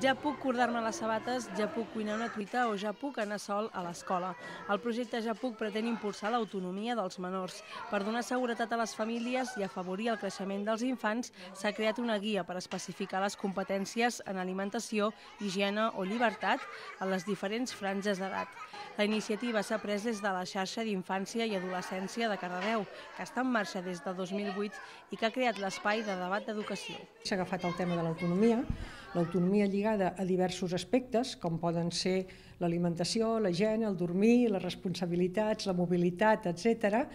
Ja puc cordar-me les sabates, ja puc cuinar una truita o ja puc anar sol a l'escola. El projecte Ja puc pretén impulsar l'autonomia dels menors. Per donar seguretat a les famílies i afavorir el creixement dels infants, s'ha creat una guia per especificar les competències en alimentació, higiene o llibertat a les diferents franges d'edat. La iniciativa s'ha pres des de la xarxa d'Infància i Adolescència de Cardedeu, que està en marxa des de 2008 i que ha creat l'espai de debat d'educació. S'ha agafat el tema de l'autonomia lligada a diversos aspectes, com poden ser l'alimentació, la higiene, el dormir, les responsabilitats, la mobilitat, etc.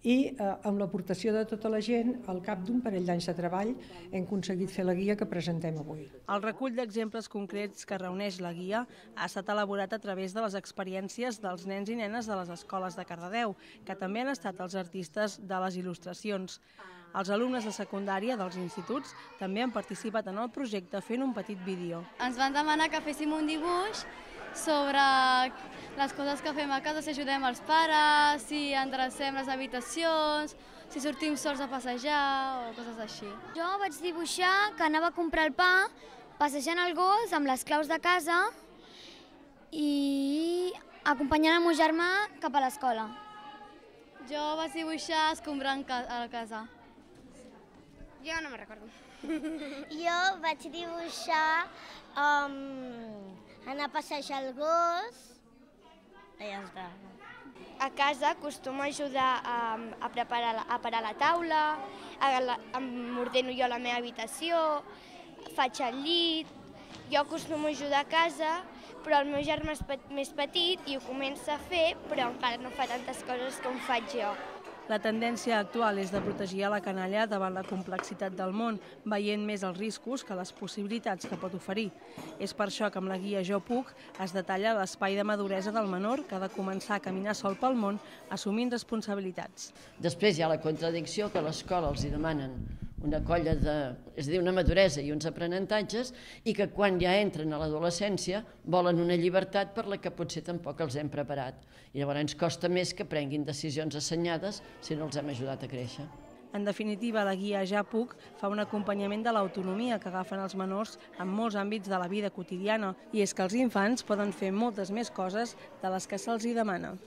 I amb l'aportació de tota la gent, al cap d'un parell d'anys de treball, hem aconseguit fer la guia que presentem avui. El recull d'exemples concrets que reuneix la guia ha estat elaborat a través de les experiències dels nens i nenes de les escoles de Cardedeu, que també han estat els artistes de les il·lustracions. Els alumnes de secundària dels instituts també han participat en el projecte fent un petit vídeo. Ens van demanar que féssim un dibuix sobre les coses que fem a casa, si ajudem els pares, si endrecem les habitacions, si sortim sols a passejar o coses així. Jo vaig dibuixar que anava a comprar el pa, passejant el gos amb les claus de casa i acompanyant el meu germà cap a l'escola. Jo vaig dibuixar escombrant a la casa. Jo no me'n recordo. Jo vaig dibuixar anar a passejar el gos i ja està. A casa acostumo a ajudar a parar la taula, m'ordeno jo la meva habitació, faig el llit. Jo acostumo a ajudar a casa, però el meu germà és més petit i ho comença a fer, però encara no fa tantes coses com faig jo. La tendència actual és de protegir a la canalla davant la complexitat del món, veient més els riscos que les possibilitats que pot oferir. És per això que amb la guia Jo puc es detalla l'espai de maduresa del menor que ha de començar a caminar sol pel món assumint responsabilitats. Després hi ha la contradicció que a l'escola els demanen una colla és a dir, una maduresa i uns aprenentatges, i que quan ja entren a l'adolescència volen una llibertat per la que potser tampoc els hem preparat. I llavors ens costa més que prenguin decisions assenyades si no els hem ajudat a créixer. En definitiva, la guia Ja puc fa un acompanyament de l'autonomia que agafen els menors en molts àmbits de la vida quotidiana, i és que els infants poden fer moltes més coses de les que se'ls demana.